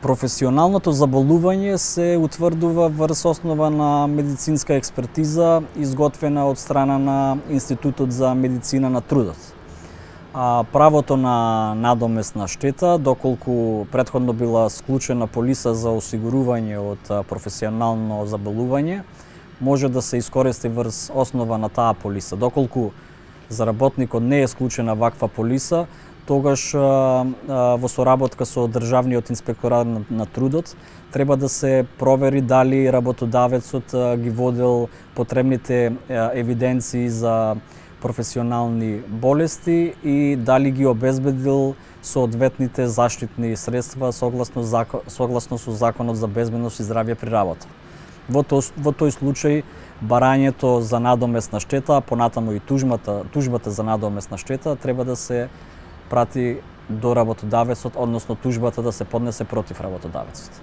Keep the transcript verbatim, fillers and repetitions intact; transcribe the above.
Професионалното заболување се утврдува врз основа на медицинска експертиза изготвена од страна на Институтот за медицина на трудот. А правото на надоместна штета, доколку претходно била склучена полиса за осигурување од професионално заболување, може да се искористи врз основа на таа полиса. Доколку за работникот не е склучена ваква полиса, тогаш во соработка со Државниот инспекторат на трудот треба да се провери дали работодавецот ги водел потребните евиденции за професионални болести и дали ги обезбедил соодветните заштитни средства согласно закон, согласно со Законот за безбедност и здравје при работа. Во тој, во тој случај барањето за надоместна штета, понатаму и тужбата, тужбата за надоместна штета треба да се прати до работодавецот, односно тужбата да се поднесе против работодавецот.